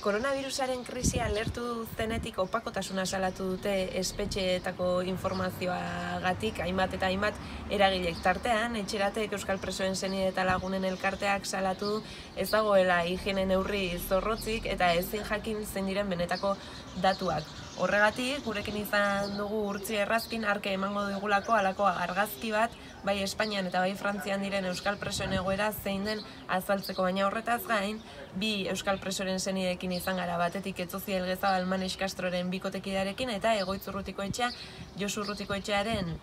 Koronavirusaren krisia alertu zenetik opakotasuna salatu dute espetxeetako informazioagatik hainbat eta hainbat eragilek tartean, etxeratek Euskal Presoen senide eta lagunen elkarteak salatu ez dagoela higiene neurri zorrotzik eta ezin jakin zein diren benetako datuak. Horregatik, gurekin izan dugu Urtzi Errazkin arke emango digulako halako argazki bat, bai Espainian eta bai Frantzian diren Euskal Presoen egoera zein den azaltzeko, baina horretaz gain, bi Euskal Presoren senideekin izan gara, batetik Etzozi Elgezabal Manes Castroren bikotekidearekin eta Egoitz Urrutikoetxea Josu Urrutikoetxearen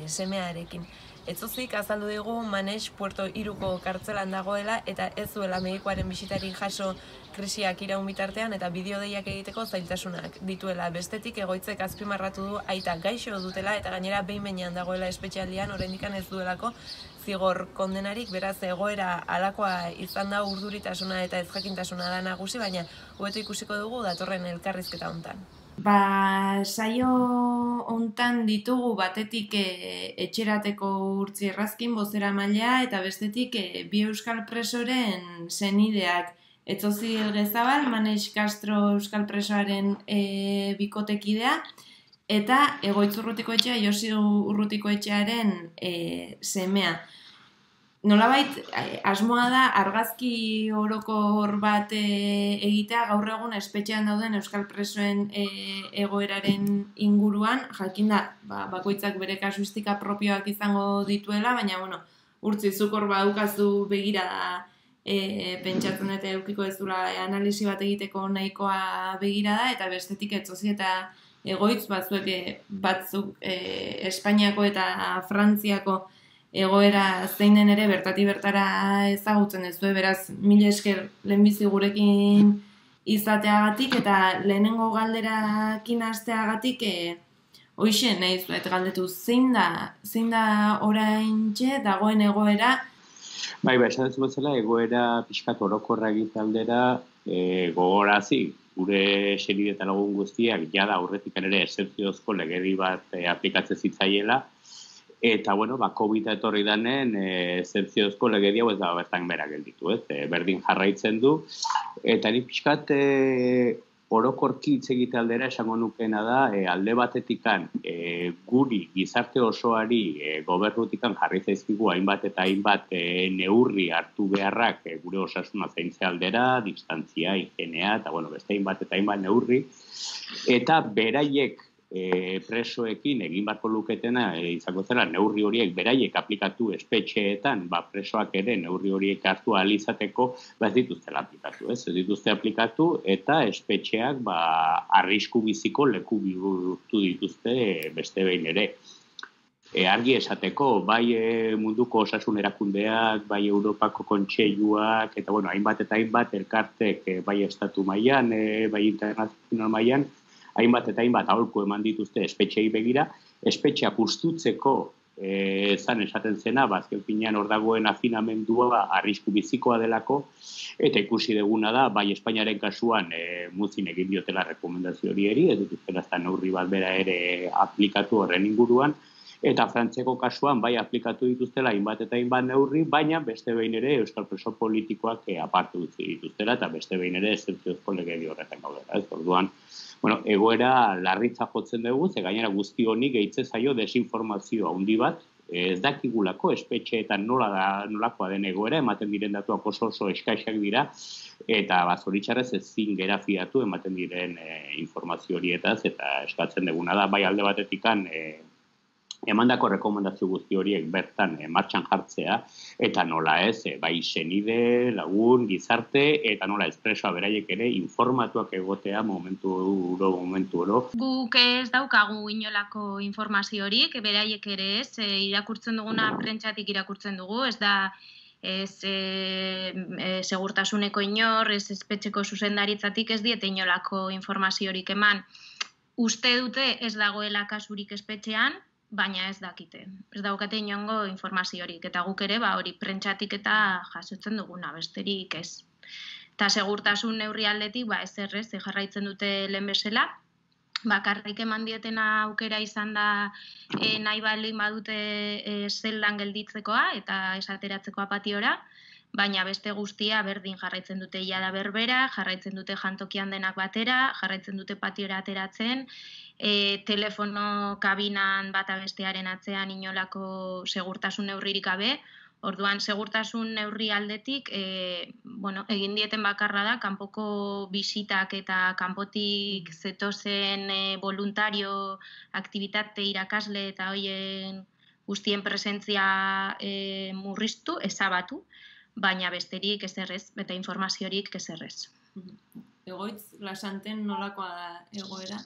semearekin. Etzozik azaldu digu Manes Puerto Iruko kartzelan dagoela eta ez duela medikuaren bisitari jaso krisiak iraun bitartean eta bideodeiak egiteko zailtasunak dituela. Bestetik Egoitzek azpimarratu du aita gaixo dutela eta gainera behin-behinean dagoela espetxealdian oraindik ez duelako zigor kondenarik, beraz egoera halakoa izan da urduritasuna eta ezjakintasuna da nagusi, baina hobeto ikusiko dugu datorren elkarrizketa hontan. Saio hontan ditugu batetik etxerateko Urtzi Errazkin bozeramailea eta bestetik bi Euskal Presoren senideak. Etzozi Elgezabal, Manes Castro Euskal Presoaren bikotekidea eta Egoitz Urrutikoetxea Josu Urrutikoetxearen semea. Nolabait, asmoa da argazki orokor bat egitea gaur egun espetxean dauden Euskal Presoen egoeraren inguruan, jakinda, bakoitzak bere kasuistika propioak izango dituela, baina, Urtzi, zuk hor badukazu begirada pentsatzen eta eukiko ez dula analisi bat egiteko nahikoa begirada, eta bestetik Etzozi eta Egoitz batzuk Espainiako eta Frantziako egoera zein den ere bertatik bertara ezagutzen ez du, beraz, mila esker lehenbizi gurekin izateagatik eta lehenengo galderakin hasteagatik hoixe nahi zuet galdetu, zein da oraintxe dagoen egoera? Bai, esan duzu bezala, egoera pixkat orokorra egitaldera gogorazi, gure senide eta lagun guztiak jada aurretik ere exerziozko legedi bat aplikatzen zitzaiela, eta, COVID etorri danen, exerziozko legedi hau ez da bertan bera gelditu, berdin jarraitzen du, eta ni pixkat orokorki hitz egite aldera esango nukeena da, alde batetikan guri gizarte osoari gobernutikan jarri zaizkigu hainbat eta hainbat neurri hartu beharrak gure osasuna zaintze aldera, distantzia, higienea, eta beste hainbat eta hainbat neurri, eta beraiek presoekin egin barko luketena izango zela neurri horiek beraiek aplikatu espetxeetan, presoak ere neurri horiek hartu ahal izateko, ez dituzte aplikatu, ez dituzte aplikatu eta espetxeak arrisku biziko leku bihurtu dituzte beste behin ere. Argi esateko, bai munduko osasun erakundeak, bai Europako kontseiluak, eta hainbat eta hainbat elkartek, bai estatu mailan, bai internazional mailan, hainbat eta hainbat aholku eman dituzte espetxeei begira, espetxeak ustutzeko zan esaten zena, azken finean hor dagoen afinamendua arrisku bizikoa delako, eta ikusi duguna da, bai Espainiaren kasuan muzin egin diotela rekomendazio hori, ez dituztela neurri bat bera ere aplikatu horren inguruan, eta Frantziako kasuan bai aplikatu dituztela hainbat eta hainbat neurri, baina beste behin ere Euskal Preso politikoak apartu dituztela, eta beste behin ere exerziozko legedi horretan gaudela. Orduan, egoera larritza jotzen dugu, ze gainera guzti honi gehitze zaio desinformazio handi bat, ez dakigulako espetxeetan nolakoa den egoera, ematen diren datuak oso eskaisak dira, eta zoritxarrez ezin gera fiatu ematen diren informazio horietaz, eta eskatzen duguna da, bai alde batetikan emandako rekomendazio guzti horiek bertan martxan jartzea, eta nola ez, bai senide, lagun, gizarte, eta nola ez presoa beraiek ere informatuak egotea momentu oro. Guk ez daukagu inolako informazio horik, beraiek ere ez, irakurtzen duguna prentsatik irakurtzen dugu, ez da segurtasuneko inor, ez espetxeko zuzendaritzatik ez diete inolako informazio horik eman. Uste dute ez dagoela kasurik espetxean, baina ez dakite. Ez daukate inongo informaziorik, eta guk ere hori prentsatik eta jasotzen duguna, besterik ez. Eta segurtasun neurri aldetik, ez errez, jarraitzen dute lehen bezala, bakarrik eman dietena aukera izan da nahi baldin badute zeldan gelditzekoa eta esateratzeko apatiora, baina beste guztia berdin jarraitzen dute jada berbera, jarraitzen dute jantokian denak batera, jarraitzen dute patiora ateratzen, telefono kabinan bata bestearen atzean inolako segurtasun neurririk gabe. Orduan, segurtasun neurri aldetik, egin dieten bakarra da, kanpoko bisitak eta kanpotik zetozen voluntario, aktibitate irakasle eta hoien guztien presentzia murriztu, ezabatu, baina besterik ezerrez, eta informaziorik ezerrez. Egoitz, Lasanten nolakoa da egoera?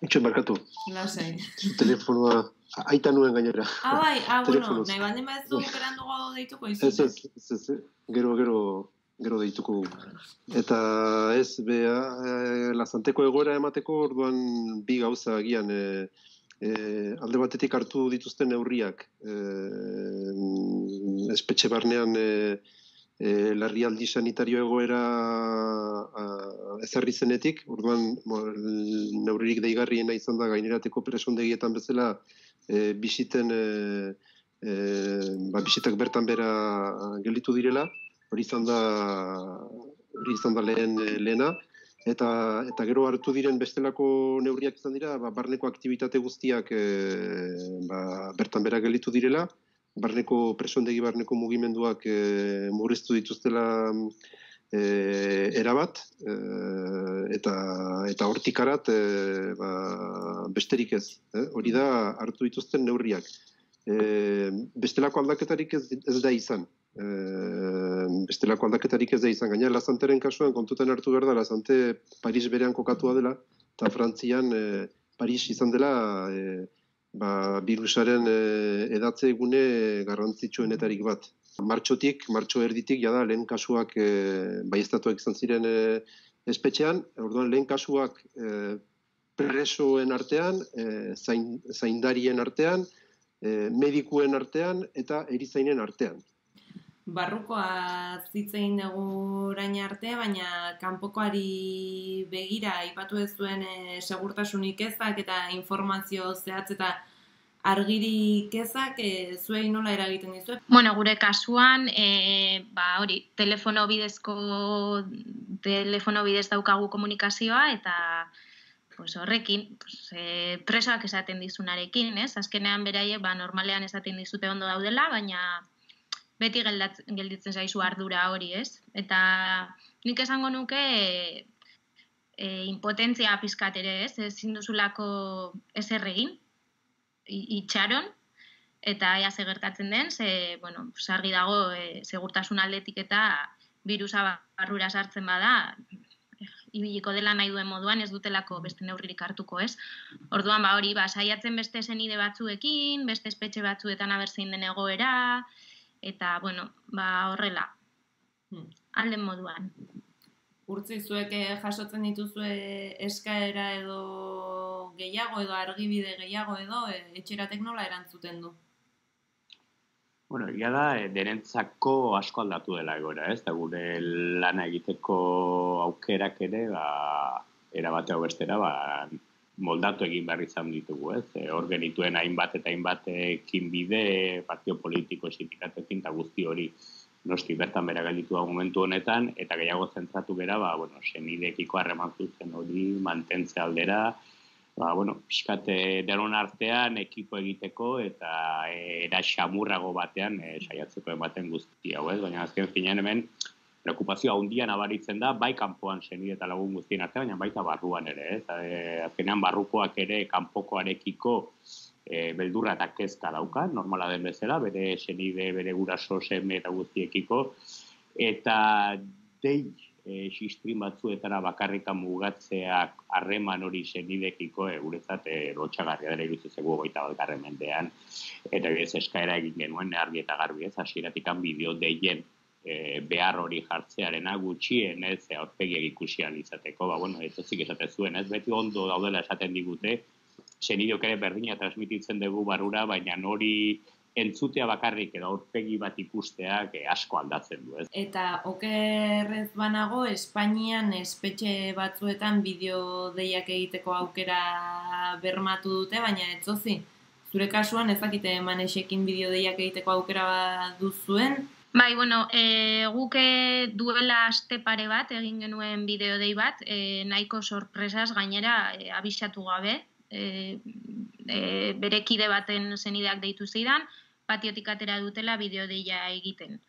Itxen barkatu. Lasai. Telefonoa aita nuen gainera. Bai, bueno, nahi baldin badezu berandugo deituko izu. Ez, gero deituko. Eta ez, Lasanteko egoera emateko orduan bi gauza agian alde batetik hartu dituzten neurriak. Espetxe barnean larrialdi sanitario egoera ezarri zenetik, orduan neurririk deigarriena izan da gainerateko presondegietan bezala bisitak bertan bera gelditu direla, hori izan da lehena, eta gero hartu diren bestelako neurriak izan dira, barneko aktibitate guztiak bertan bera gelditu direla, barneko presondegi barneko mugimenduak murriztu dituztela erabat, eta hortikarat besterik ez. Hori da hartu dituzten neurriak. Bestelako aldaketarik ez da izan. Gaina Lasanteren kasuan kontutan hartu behar da, Lasante Paris berean kokatua dela, eta Frantzian Paris izan dela virusaren edatze egune garrantzitsuenetarik bat. Martxo erditik, jada, lehen kasuak baieztatuak izan ziren espetxean, orduan lehen kasuak presoen artean, zaindarien artean, medikuen artean eta erizainen artean. Barrukoa zitzein dugu orain arte, baina kanpokoari begira aipatu ez zuen segurtasunik ezak eta informazio zehatz eta argirik ezak zuei nola eragiten dizu? Bueno, gure kasuan, telefono bidez daukagu komunikazioa eta horrekin, presoak esaten dizunarekin, ez? Azkenean beraiek normalean esaten dizute ondo daudela, baina beti gelditzen zaizu ardura hori, ez? Eta nik esango nuke impotentzia pizkat ere, ez? Ezin duzulako ezer egin, itxaron, eta ea ze gertatzen den, argi dago segurtasun aldetik eta birusa barrura sartzen bada, ibiliko dela nahi duen moduan, ez dutelako beste neurririk hartuko, ez? Orduan, saiatzen beste senide batzuekin, beste espetxe batzuetan abertzein den egoera, eta, horrela, alden moduan. Urtzi, zuek jasotzen dituzue eskaera edo gehiago, edo argibide gehiago edo, etxeratek nola erantzuten du? Bueno, egia da, denentzako asko aldatu dela egoera, ez? Da gure lana egiteko aukerak ere, era bateo bestera, moldatu egin behar izan ditugu, ez? Hor genituen hainbat eta hainbat ekinbide, partio politiko, sindikatekin, eta guzti hori noski bertan bera gelditu da momentu honetan, eta gehiago zentratu bera, senidekiko harreman zuzen hori mantentze aldera, pixkate denon artean ekipo egiteko eta era xamurrago batean saiatzeko ematen guzti hau, ez? Baina azken finean hemen preokupazioa handia nabaritzen da, bai kanpoan senide eta lagun guztien artean, baina baita barruan ere, ez? Azkenean barrukoak ere kanpokoarekiko beldurra eta kezka dauka, normala den bezala, bere senide, bere guraso, seme eta guztiekiko, eta dei sistrin batzuetara bakarrikan mugatzeak harreman hori senidekiko guretzat lotxagarria dela iruditzen zaigu 21. mendean, eta ez eskaera egin genuen argi eta garbi, ez hasieratikan bideo deien behar hori jartzearena gutxien, ez aurpegiak ikusian izateko, ez ezik esaten zuen, ez beti ondo daudela esaten digute, senideok ere berdina transmititzen dugu barrura, baina hori entzutea bakarrik edo aurpegi bat ikusteak asko aldatzen du, ez? Eta okerrez banago, Espainian espetxe batzuetan bideo deiak egiteko aukera bermatu dute, baina etzozi, Zure kasuan ezakite Manexekin bideodeiak egiteko aukera bat duzuen? Bai, bueno, guk duela aste pare bat egin genuen bideodei bat, nahiko sorpresaz gainera abisatu gabe, bere kide baten senideak deitu zidan, patiotik atera dutela bideodeia egiten.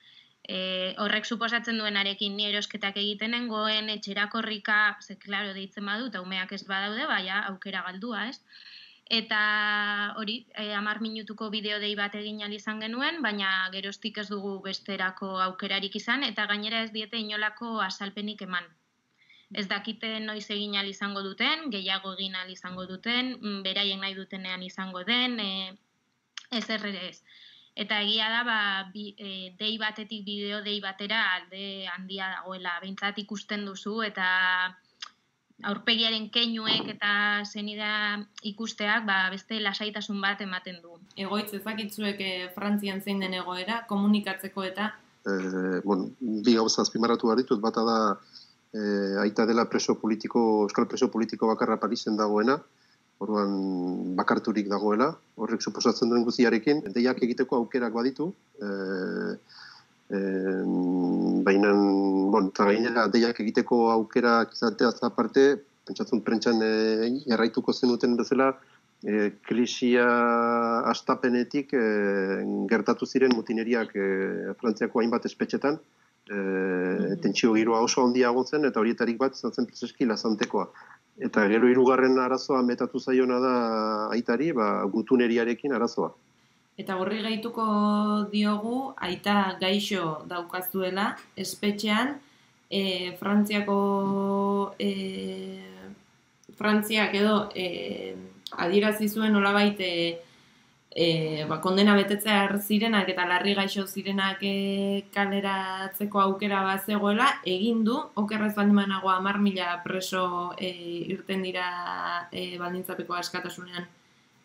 Horrek suposatzen duenarekin ni erosketak egiten nengoen, etxera korrika, ze klaro deitzen badu, eta umeak ez badaude, baina aukera galdua, ez? Eta hori, 10 minutuko bideodei bat egin ahal izan genuen, baina geroztik ez dugu besterako aukerarik izan, eta gainera ez diete inolako azalpenik eman. Ez dakite noiz egin ahal izango duten, gehiago egin ahal izango duten, beraien nahi dutenean izango den, ez errere ez. Eta egia da, dei batetik bideodei batera alde handia dagoela, behintzat ikusten duzu, eta aurpegiaren keinuek eta zenida ikusteak beste lasaitasun bat ematen du. Egoitz ezakitzuek Frantzian zein den egoera, komunikatzeko eta? Bi gauza azpimarratu behar ditut, bata da aita dela euskal preso politiko bakarra Parisen dagoena, orduan bakarturik dagoela, horrek suposatzen duen guztiarekin, deiak egiteko aukerak baditu, baina, eta gainera deiak egiteko aukerak izateaz aparte, pentsatzen prentxan jarraituko zenuten bezala, krisia astapenetik gertatu ziren mutineriak Frantziako hainbat espetxetan, tentsio giroa oso handia egon zen, eta horietarik bat izan zen prezeski lazantekoa. Eta gero hirugarren arazoa metatu zaiona da aitari, gutuneriarekin arazoa. Eta horri gehituko diogu, aita gaixo daukazuela, espetxean, Frantziak edo adierazi zuen nolabait kondena betetzea zirenak eta larri gaixo zirenak kaleratzeko aukera bat zegoela, egin du, okerrez baldin banago 10.000 preso irten dira baldintzapeko askatasunean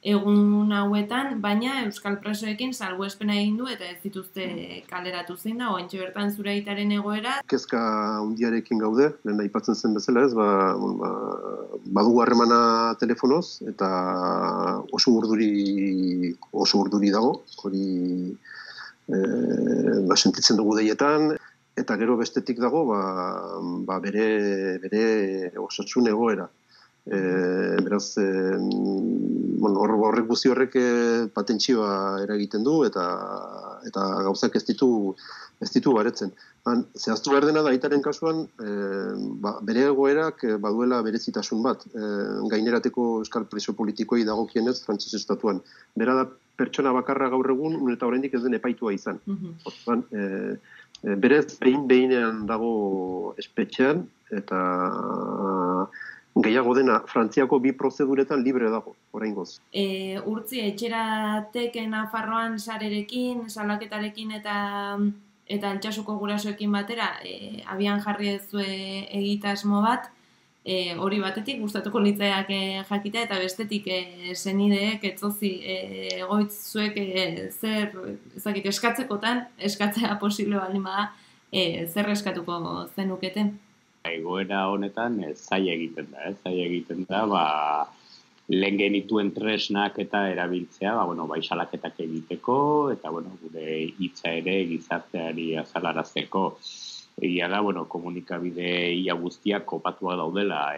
egun hauetan, baina euskal presoekin salbuespena egin du eta ez dituzte kaleratu zein da, ointxe bertan zure aitaren egoera. Kezka hundiarekin gaude, lehen aipatzen zen bezala ez, badugu harremana telefonoz, eta oso urduri dago, hori sentitzen dugu deietan, eta gero bestetik dago bere osasun egoera. Beraz, horrek guzti horrek patentsioa eragiten du eta gauzak ez ditu baretzen. Zehaztu behar dena da aitaren kasuan, bere egoerak baduela berezitasun bat, gainerateko euskal preso politikoi dagokienez Frantsez estatuan. Bera da pertsona bakarra gaur egun, eta oraindik ez den epaitua izan. Berez behinean dago espetxean, eta gehiago dena, Frantziako 2 prozeduretan libre dago, oraingoz. Urtzi, etxeratek Nafarroan sarerekin, salaketarekin eta Altsasuko gurasoekin batera, abian jarri ezue egitasmo bat, hori batetik gustatuko litzaiak jakitea, eta bestetik senideek etzozi egoitz zuek zer eskatzea posible baldin bada, zer eskatuko zenuketen? Egoera honetan zaila egiten da, lehen genituen tresnak eta erabiltzea, bai salaketak egiteko, eta gure hitza ere gizarteari azalarazteko. Egia da, komunikabide ia guztiak kopatuak daudela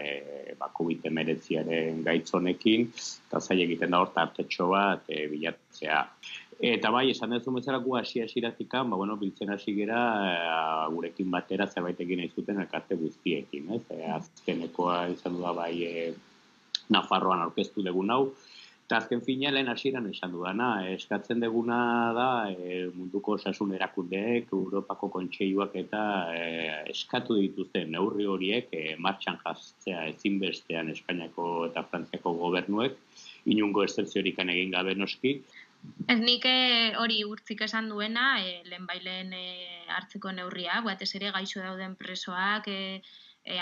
COVID-19 gaitz honekin, eta zaila egiten da hor tartetxo bat bilatzea. Eta bai, esan duzu bezala gu hasi-hasiratik, biltzen hasi gera gurekin batera zerbait egin nahi zuten elkarte guztiekin, ez? Azkenekoa izan du da bai Nafarroan aurkeztu dugun hau, eta azken fina lehen hasieran esan dudana, eskatzen duguna da munduko osasun erakundeek, Europako kontseiluak eta eskatu dituzten neurri horiek martxan jartzea ezinbestean Espainiako eta Frantziako gobernuek, inungo excepziorik egin gabe noski. Ez nik hori urtzik esan duena, lehenbailen hartzeko neurria, batez ere gaixo dauden presoak,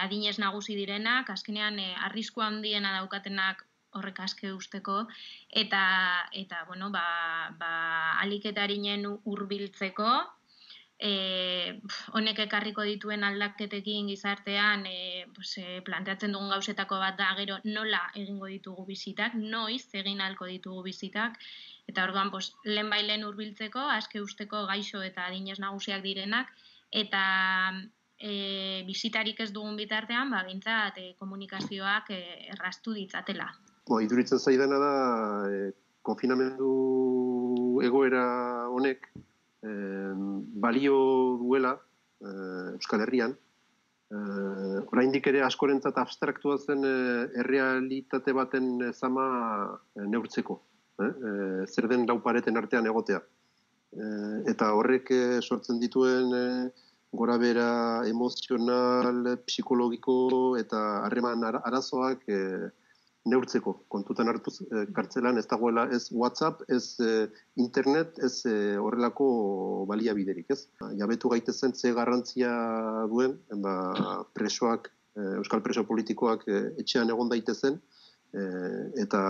adinez nagusi direnak, azkenean arrisku handiena daukatenak horrek aske usteko, eta aliketa arinen hurbiltzeko, honek ekarriko dituen aldaketekin gizartean planteatzen dugun gauzetako bat da gero nola egingo ditugu bizitak, noiz egin ahalko ditugu bizitak, eta orduan lehenbailen hurbiltzeko, aske usteko gaixo eta adinez nagusiak direnak, eta bizitarik ez dugun bitartean, behintzat komunikazioak erraztu ditzatela. Iduritzen zaidana da, konfinamendu egoera honek, balio duela Euskal Herrian, oraindik ere askorentzat abstraktua zen errealitate baten zama neurtzeko, zer den lau pareten artean egotea. Eta horrek sortzen dituen gorabehera emozional, psikologiko eta harreman arazoak neurtzeko, kontutan hartuz kartzelan ez dagoela ez WhatsApp, ez internet, ez horrelako baliabiderik, ez? Jabetu gaitezen ze garrantzia duen, presoak, euskal preso politikoak etxean egon daitezen, eta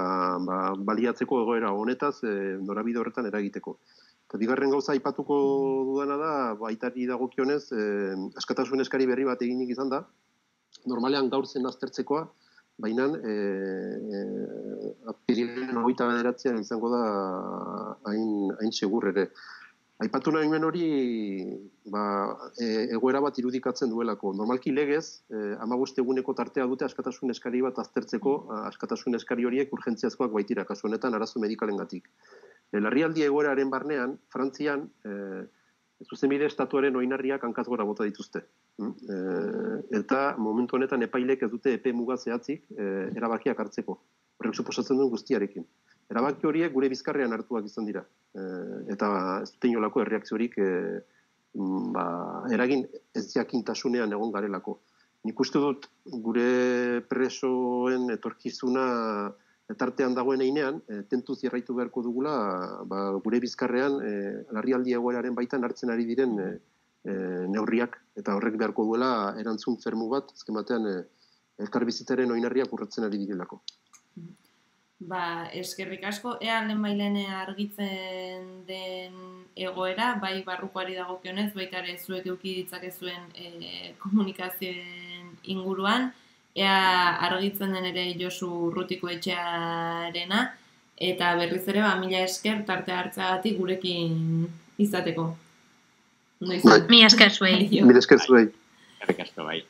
baliatzeko egoera honetaz norabide horretan eragiteko. Eta bigarren gauza aipatuko dudana da, baitari dagokionez, askatasun eskari berri bat eginik izan da, normalean gaur zen aztertzekoa, baina apirilaren 29 izango da hain segur ere. Aipatu nahi hori egoera bat irudikatzen duelako. Normalki legez, 15 eguneko tartea dute askatasun eskari bat aztertzeko, askatasun eskari horiek urgentziazkoak baitira, kasu honetan arazo medikalengatik. Larrialdi egoeraren barnean, Frantzian, zuzenbide estatuaren oinarriak hankaz gora bota dituzte. Eta momentu honetan epailek ez dute epe muga zehatzik erabakiak hartzeko. Horrek suposatzen duen guztiarekin. Erabaki horiek gure bizkarrean hartuak izan dira. Eta ez dute inolako erreakziorik eragin ez jakintasunean egon garelako. Nik uste dut gure presoen etorkizuna tartean dagoen einean, tentuz jarraitu beharko dugula, gure bizkarrean larrialdi egoeraren baitan hartzen ari diren neurriak, eta horrek beharko duela erantzun fermu bat, azken batean elkarbizitzaren oinarriak urratzen ari direlako. Eskerrik asko, ea lehenbailen argitzen den egoera, bai barrukoari dagokionez, baita ere zuek eduki ditzakezuen komunikazioen inguruan, ea argitzen den ere Josu Urrutiko etxearena, eta berriz ere, mila esker tarte hartzeagatik gurekin izateko. Mila esker zuei. Mila esker zuei. Eskerrik asko bai.